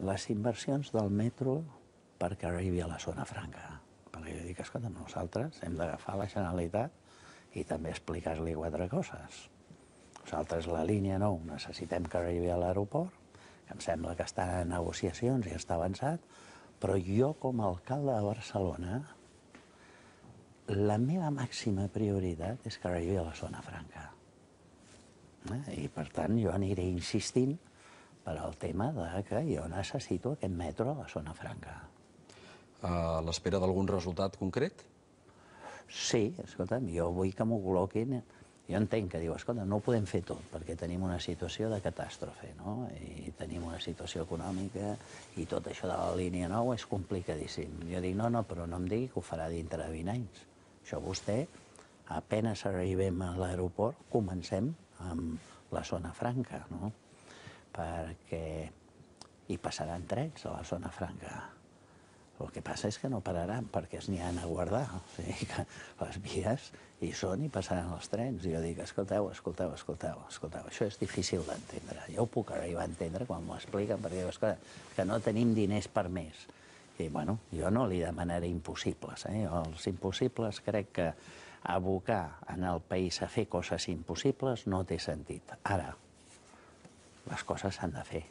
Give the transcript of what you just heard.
les inversions del metro perquè arribi a la zona franca. Perquè jo dic, escolta, nosaltres hem d'agafar la Generalitat i també explicar-li 4 coses. Nosaltres, la línia 9, necessitem que arribi a l'aeroport, que em sembla que està en negociacions i està avançat, però jo, com a alcalde de Barcelona, la meva màxima prioritat és que arribi a la zona franca. I, per tant, jo aniré insistint per al tema que jo necessito aquest metro a la zona franca. A l'espera d'algun resultat concret? Sí, escolta'm, jo vull que m'ho col·loquin. Jo entenc que diu, escolta, no ho podem fer tot, perquè tenim una situació de catàstrofe, no? I tenim una situació econòmica i tot això de la línia 9 és complicadíssim. Jo dic, no, però no em digui que ho farà dintre de 20 anys. Això vostè, apenas arribem a l'aeroport, comencem amb la zona franca, no? Perquè hi passaran trens a la zona franca. El que passa és que no pararan, perquè es n'hi han a guardar. O sigui que les vies hi són i passaran els trens. I jo dic, escolteu, això és difícil d'entendre. Jo ho puc arribar a entendre quan m'ho expliquen, perquè diu, escolta, que no tenim diners per més. I, bueno, jo no li demanaré impossibles. Els impossibles crec que abocar en el país a fer coses impossibles no té sentit. Ara, les coses s'han de fer.